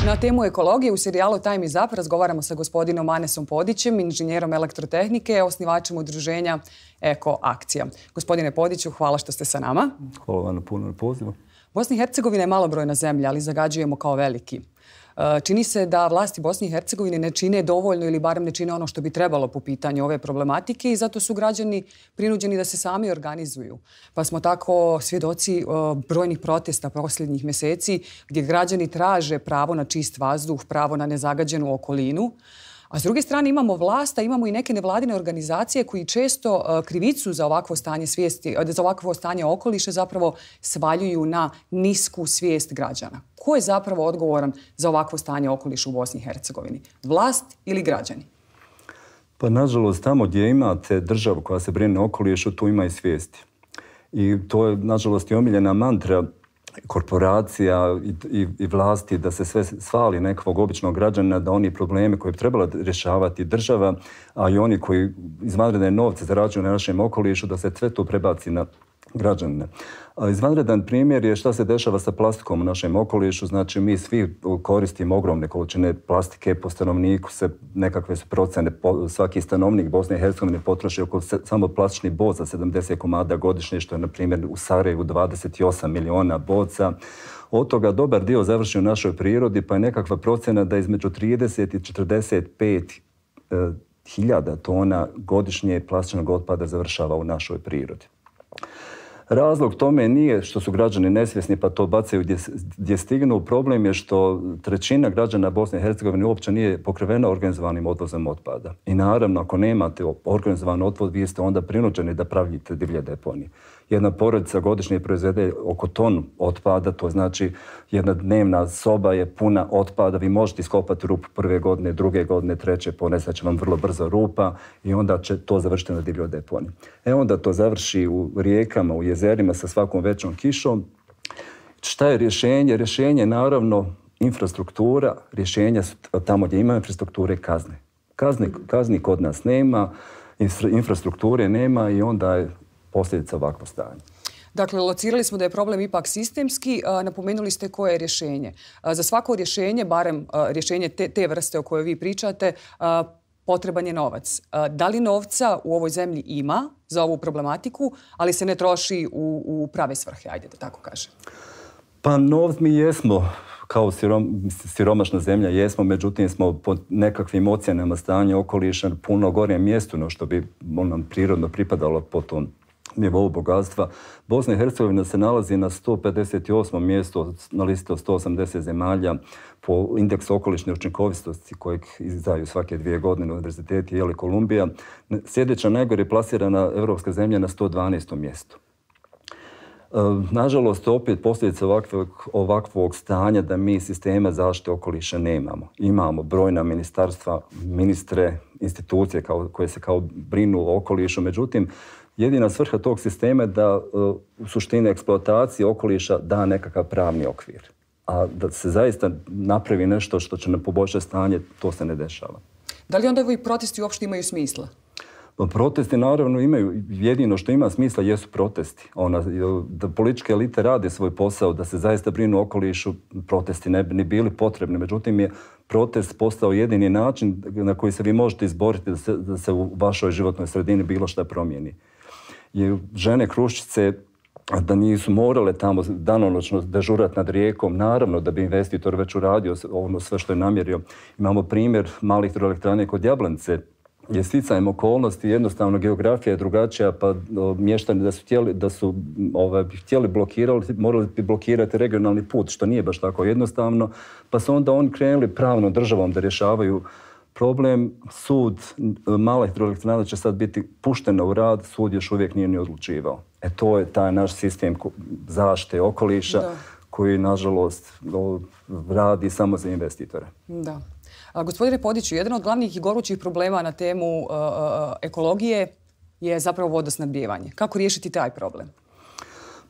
Na temu ekologije u serijalu Time is Up razgovaramo sa gospodinom Anesom Podićem, inženjerom elektrotehnike, osnivačem udruženja Eko Akcija. Gospodine Podiću, hvala što ste sa nama. Hvala vam puno na pozivu. Bosna i Hercegovina je malobrojna zemlja, ali zagađujemo kao veliki. Čini se da vlasti Bosne i Hercegovine ne čine dovoljno ili barem ne čine ono što bi trebalo po pitanju ove problematike i zato su građani prinuđeni da se sami organizuju. Pa smo tako svjedoci brojnih protesta posljednjih mjeseci gdje građani traže pravo na čist vazduh, pravo na nezagađenu okolinu. A s druge strane imamo vlast, a imamo i neke nevladine organizacije koji često krivicu za ovakvo stanje svijesti, za ovakvo stanje okoliša zapravo svaljuju na nisku svijest građana. Ko je zapravo odgovoran za ovakvo stanje okoliša u Bosni i Hercegovini? Vlast ili građani? Pa nažalost, tamo gdje imate državu koja se brine o okolišu, tu ima i svijesti. I to je nažalost i omiljena mantra korporacija i vlasti da se sve svali nekog običnog građana, da oni probleme koje bi trebala rješavati država, a i oni koji izvanredne novce zarađuju na našem okolišu, da se sve to prebaci na građane. Izvanredan primjer je šta se dešava sa plastikom u našem okolišu. Znači, mi svi koristimo ogromne količine plastike po stanovniku, nekakve su procene, svaki stanovnik Bosne i Hercegovine potroši oko samo plastičnih boca 70 komada godišnje, što je, na primjer, u Sarajevu 28 miliona boca. Od toga dobar dio završi u našoj prirodi, pa je nekakva procena da između 30 i 45 hiljada tona godišnje plastičnog otpada završava u našoj prirodi. Razlog tome nije što su građani nesvjesni pa to bacaju gdje stignu. Problem je što trećina građana Bosne i Hercegovine uopće nije pokrivena organizovanim odvozom otpada. I naravno, ako nemate organizovan odvoz, vi ste onda prinuđeni da pravite divlje deponije. Jedna porodica godišnje proizvede oko tonu otpada, to znači jedna dnevna soba je puna otpada. Vi možete iskopati rupu prve godine, druge godine, treće, ponesat će vam vrlo brzo rupa i onda će to završiti na divljoj deponiji. Onda to završi u rijekama, u jezerima sa svakom većom kišom. Šta je rješenje? Rješenje je naravno infrastruktura. Rješenja su tamo gdje ima infrastrukture kazne. Kazni kod nas nema, infrastrukture nema i onda je posljedica ovakvo stanje. Dakle, locirali smo da je problem ipak sistemski. Napomenuli ste koje je rješenje. Za svako rješenje, barem rješenje te vrste o kojoj vi pričate, potreban je novac. Da li novca u ovoj zemlji ima za ovu problematiku, ali se ne troši u prave svrhe, ajde da tako kažem? Pa novc mi jesmo, kao siromašna zemlja jesmo, međutim smo po nekakvim ocjenama stanja okoliša puno gornjem mjestu, no što bi nam prirodno pripadalo po tom nivou bogatstva. Bosna i Hercegovina se nalazi na 158. mjestu na listi od 180 zemalja po indeksu okolišne učinkovitosti kojeg izdaju svake 2 godine na univerziteti Jeli Kolumbija. Sljedeća najgore plasirana evropska zemlja na 112. mjestu. Nažalost, opet posljedica ovakvog stanja da mi sistema zaštite okoliša nemamo. Imamo brojna ministarstva, ministre, institucije koje se kao brinu o okolišu, međutim, jedina svrha tog sistema je da u suštini eksploatacije okoliša da nekakav pravni okvir. A da se zaista napravi nešto što će nam poboljšati stanje, to se ne dešava. Da li onda ovi protesti uopšte imaju smisla? Protesti naravno imaju, jedino što ima smisla jesu protesti. Da političke elite rade svoj posao, da se zaista brinu o okolišu, protesti ne bi ni bili potrebni. Međutim je protest postao jedini način na koji se vi možete izboriti da se u vašoj životnoj sredini bilo šta promijeni. Žene Kruščice da nisu morale tamo danonoćno dežurati nad rijekom, naravno da bi investitor već uradio ono sve što je namjerio. Imamo primjer malih hidroelektrane kod Jablanice, je sticajem okolnosti, jednostavno geografija je drugačija, pa mještani da su htjeli blokirati, morali bi blokirati regionalni put, što nije baš tako jednostavno, pa su onda oni krenuli pravnom državom da rješavaju problem. Sud mala hidroelektrana će sad biti puštena u rad, sud još uvijek nije ni odlučivao. To je taj naš sistem zaštite okoliša koji, nažalost, radi samo za investitore. Da. Gospodine Podiću, jedan od glavnih i gorućih problema na temu ekologije je zapravo vodosnabdijevanje. Kako riješiti taj problem?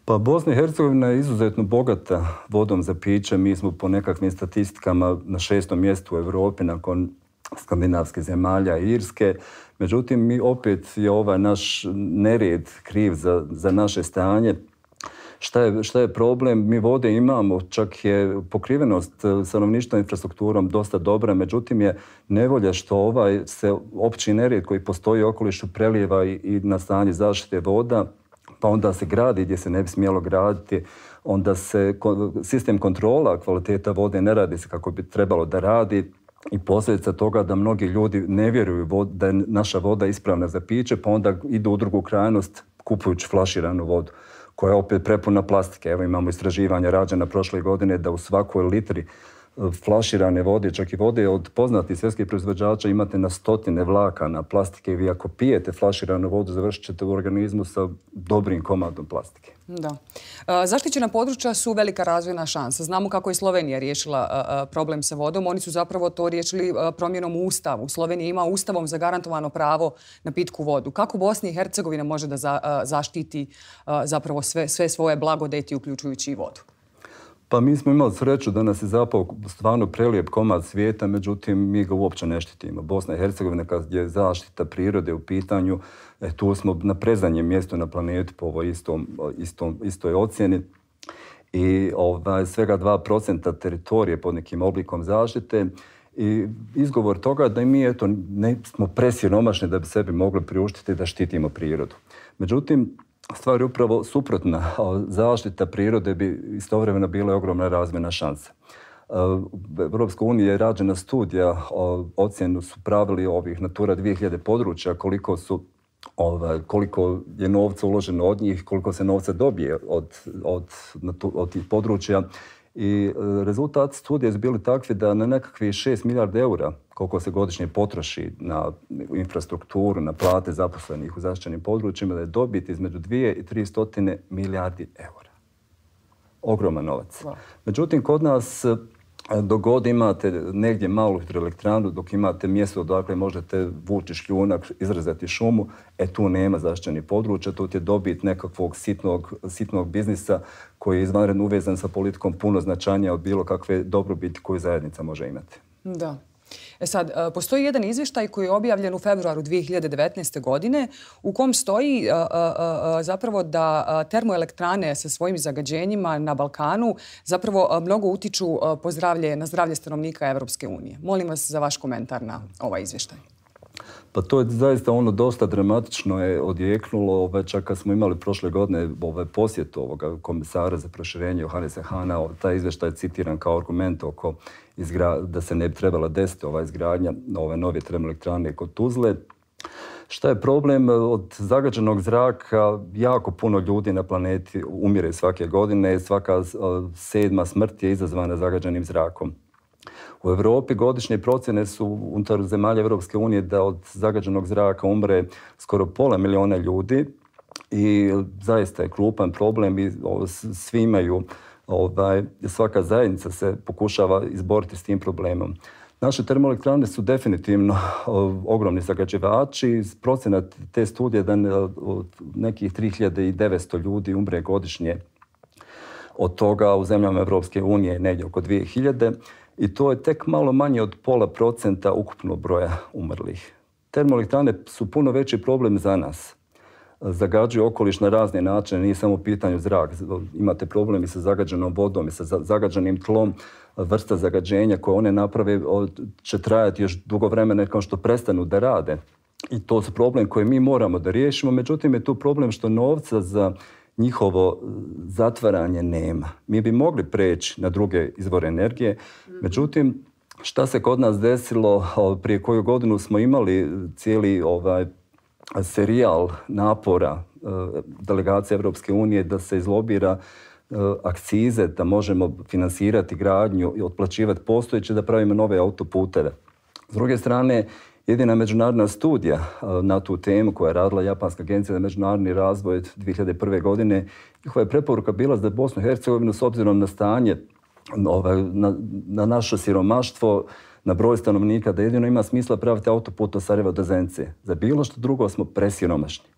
Pa Bosna i Hercegovina je izuzetno bogata vodom za piće. Mi smo po nekakvim statistikama na 6. mjestu u Evropi nakon skandinavskih zemalja i Irske. Međutim, mi opet je ovaj naš nered kriv za naše stanje. Šta je problem? Mi vode imamo, čak je pokrivenost stanovništva infrastrukturom dosta dobra, međutim je nevolja što se opći nered koji postoji u okolišu prelijeva i na stanje zaštite voda, pa onda se gradi gdje se ne bi smjelo graditi, onda se sistem kontrola kvaliteta vode ne radi se kako bi trebalo da radi i posljedica toga da mnogi ljudi ne vjeruju da je naša voda ispravna za piće, pa onda idu u drugu krajnost kupujući flaširanu vodu, koja je opet prepuna plastike. Evo imamo istraživanja rađena prošle godine da u svakoj litri flaširane vode, čak i vode od poznatih svjetskih proizvođača, imate na stotine vlakana plastike i vi ako pijete flaširanu vodu završit ćete u organizmu sa dobrim komadom plastike. Da. Zaštićena područja su velika razvojna šansa. Znamo kako je Slovenija riješila problem sa vodom. Oni su zapravo to riješili promjenom u Ustavu. Slovenija ima Ustavom zagarantovano pravo na pitku vodu. Kako Bosna i Hercegovina može da zaštiti zapravo sve svoje blagodeti, uključujući i vodu? Pa mi smo imali sreću da nas je zapao stvarno prelijep komad svijeta, međutim mi ga uopće ne štitimo. Bosna i Hercegovina kad je zaštita prirode u pitanju, tu smo na predzadnjem mjestu na planetu po ovoj istoj ocjeni i svega 2% teritorije pod nekim oblikom zaštite. I izgovor toga da mi ne smo presiromašni da bi sebi mogli priuštiti da štitimo prirodu. Međutim, stvar je upravo suprotna. Zaštita prirode bi istovremeno bila ogromna razvojna šansa. U Europskoj uniji je rađena studija, ocjenu su pravili ovih Natura 2000 područja, koliko su koliko je novca uloženo od njih, koliko se novca dobije od tih područja. I rezultat studije su bili takvi da na nekakvih 6 milijardi eura, koliko se godišnje potroši na infrastrukturu, na plate zaposlenih u zaštićenim područjima, da je dobit između 2 i 300 milijardi eura. Ogroman novac. Međutim, kod nas dok god imate negdje malu hidroelektranu, dok imate mjesto odakle možete vući šljunak, izrezati šumu, tu nema zaštićenih područja, tu je dobit nekakvog sitnog biznisa koji je izvanredno uvezan sa politikom puno značajnija od bilo kakve dobrobiti koju zajednica može imati. Da. Sad, postoji jedan izvještaj koji je objavljen u februaru 2019. godine u kom stoji zapravo da termoelektrane sa svojim zagađenjima na Balkanu zapravo mnogo utiču na zdravlje stanovnika Evropske unije. Molim vas za vaš komentar na ovaj izvještaj. Pa to je zaista dosta dramatično je odjeknulo, čak kad smo imali prošle godine posjet ovoga komisara za proširenje Johanesa Hana, taj izvještaj je citiran kao argument oko da se ne bi trebala desiti ova izgradnja ove nove termoelektrane kod Tuzle. Šta je problem? Od zagađenog zraka jako puno ljudi na planeti umire svake godine. Svaka 7. smrt je izazvana zagađenim zrakom. U Europi godišnje procjene su unutar zemalja Evropske unije da od zagađenog zraka umre skoro 500.000 ljudi i zaista je krupan problem i svi imaju, svaka zajednica se pokušava izboriti s tim problemom. Naše termoelektrane su definitivno ogromni zagađivači. Procjena te studije da od nekih 3.900 ljudi umre godišnje. Od toga u zemljama Evropske unije negdje oko 2.000. I to je tek malo manje od 0,5% ukupnog broja umrlih. Termoelektrane su puno veći problem za nas. Zagađuju okoliš na razne načine, nije samo u pitanju zrak. Imate problem i sa zagađenom vodom i sa zagađenim tlom. Vrsta zagađenja koje one naprave će trajati još dugo vremena kao što prestanu da rade. I to su problem koje mi moramo da riješimo. Međutim, je tu problem što novca za njihovo zatvaranje nema. Mi bi mogli preći na druge izvore energije. Međutim, šta se kod nas desilo? Prije koju godinu smo imali cijeli serijal napora delegacije Evropske unije da se izlobira akcize, da možemo finansirati gradnju i otplaćivati postojeće, da pravimo nove autoputeve. S druge strane, jedina međunarodna studija na tu temu koja je radila Japanska agencija za međunarodni razvoj 2001. godine, njihova je preporuka bila za Bosnu i Hercegovinu s obzirom na stanje, na naše siromaštvo, na broj stanovnika, da jedino ima smisla praviti autoput od Sarajeva do Zenice. Za bilo što drugo smo presiromašni.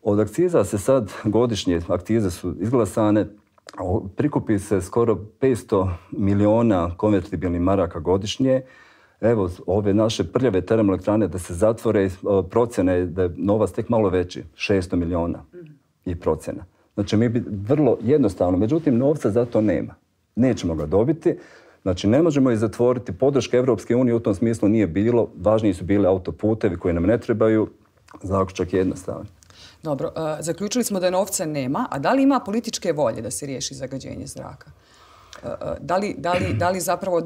Od akciza se sad godišnje, akcize su izglasane, prikupi se skoro 500 miliona konvertibilnih maraka godišnje. Evo, ove naše prljave termoelektrane da se zatvore, procjene da je novac tek malo veći, 600 miliona i procjena. Znači, mi bi vrlo jednostavno, međutim, novca za to nema. Nećemo ga dobiti. Znači, ne možemo i zatvoriti. Podrška Evropske unije u tom smislu nije bilo. Važniji su bili autoputevi koji nam ne trebaju. Zaključak je jednostavan. Dobro, zaključili smo da novca nema, a da li ima političke volje da se riješi zagađenje zraka? Da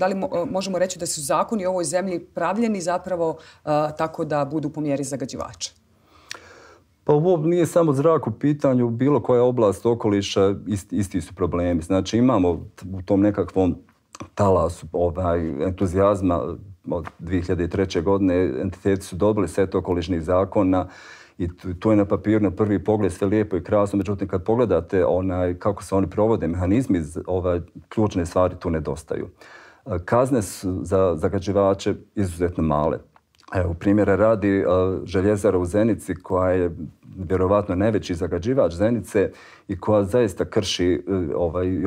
li možemo reći da su zakoni u ovoj zemlji pravljeni zapravo tako da budu po mjeri zagađivača? Pa ovo nije samo zrak u pitanju, bilo koja oblast okoliša, isti su problemi. Znači imamo u tom nekakvom talasu entuzijazma od 2003. godine, entiteti su dobili set okolišnih zakona i tu je na papiru na prvi pogled sve lijepo i krasno, međutim kad pogledate kako se oni provode, mehanizmi, ključne stvari tu nedostaju. Kazne su za zagađivače izuzetno male. Evo, primjera radi željezara u Zenici koja je vjerovatno najveći zagađivač Zenice i koja zaista krši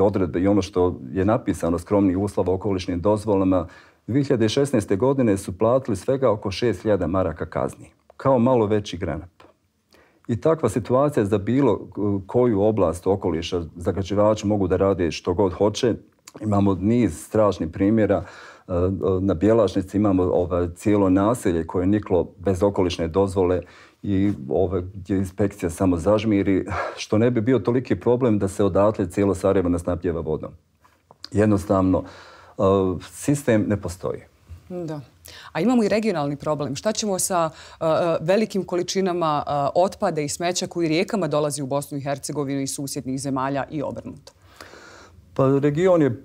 odredbe i ono što je napisano skromnih uslova okolišnim dozvolama. 2016. godine su platili svega oko 6.000 maraka kazni, kao malo veći granat. I takva situacija za bilo koju oblast okoliša zagađivači mogu da rade što god hoće. Imamo niz strašnih primjera. Na Bjelašnici imamo cijelo naselje koje je niklo bez okolišne dozvole i gdje inspekcija samo zažmiri, što ne bi bio toliki problem da se odatle cijelo Sarajevo nasnabdijeva vodom. Jednostavno, sistem ne postoji. Da. A imamo i regionalni problem. Šta ćemo sa velikim količinama otpada i smeća koji rijekama dolazi u Bosnu i Hercegovinu iz susjednih zemalja i obrnuto? Pa region je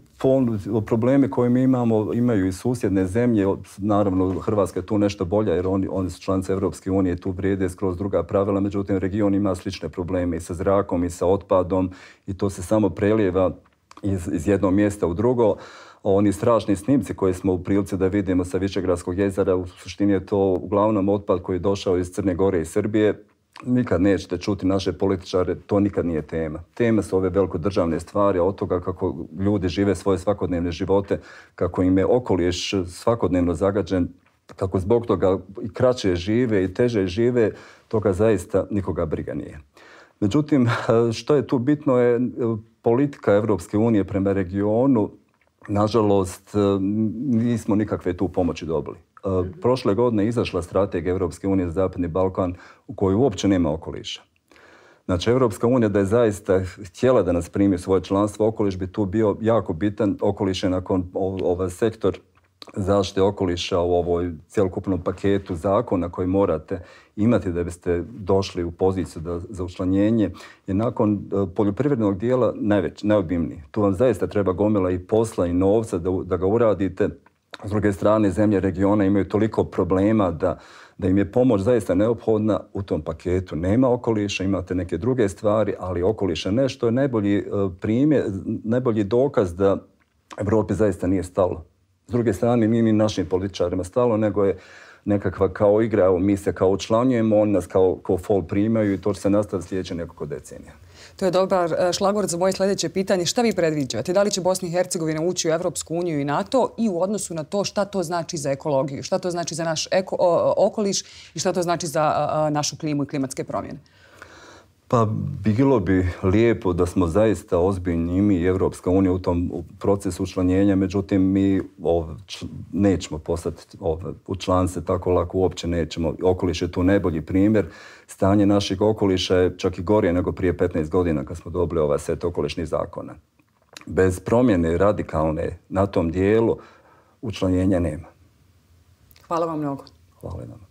probleme koje mi imamo, imaju i susjedne zemlje. Naravno, Hrvatska je tu nešto bolja jer oni su članice Evropske unije, tu vrijede skroz druga pravila. Međutim, region ima slične probleme i sa zrakom i sa otpadom i to se samo prelijeva iz jednog mjesta u drugo. Oni strašni snimci koje smo u prilici da vidimo sa Višegradskog jezera, u suštini je to uglavnom otpad koji je došao iz Crne Gore i Srbije. Nikad nećete čuti naše političare, to nikad nije tema. Tema su ove velkodržavne stvari, od toga kako ljudi žive svoje svakodnevne živote, kako im je okoliš svakodnevno zagađen, kako zbog toga i kraće žive i teže žive, toga zaista nikoga briga nije. Međutim, što je tu bitno je politika Evropske unije prema regionu. Nažalost, nismo nikakve tu pomoći dobili. Prošle godine je izašla strategija Evropske unije za Zapadni Balkan u kojoj uopće nema okoliša. Znači, Evropska unija da je zaista htjela da nas primi svoje članstvo, okoliš bi tu bio jako bitan. Okoliš je nakon ovaj sektor zaštite okoliša u ovoj cjelokupnom paketu zakona koji morate imati da biste došli u poziciju za učlanjenje, je nakon poljoprivrednog dijela najobimniji. Tu vam zaista treba gomila i posla i novca da ga uradite. S druge strane, zemlje regiona imaju toliko problema da im je pomoć zaista neophodna u tom paketu. Nema okoliša, imate neke druge stvari, ali okoliša nešto je najbolji dokaz da Evropi zaista nije stalo. S druge strane, nije ni našim političarima stalo, nego je nekakva kao igra, evo mi se kao učlanjujemo, oni nas kao fol primaju i to će se nastaviti sljedeće nekoliko decenija. To je dobar šlagvort za moje sljedeće pitanje. Šta vi predviđate? Da li će Bosna i Hercegovina ući u Evropsku uniju i NATO i u odnosu na to šta to znači za ekologiju, šta to znači za naš okoliš i šta to znači za našu klimu i klimatske promjene? Pa bilo bi lijepo da smo zaista ozbiljni i mi i Evropska unija u tom procesu učlanjenja, međutim mi nećemo postati u članice tako lako, uopće nećemo. Okoliš je tu najbolji primjer. Stanje naših okoliša je čak i gorije nego prije 15 godina kad smo dobili ovaj set okolišnih zakona. Bez promjene radikalne na tom dijelu učlanjenja nema. Hvala vam mnogo. Hvala vam.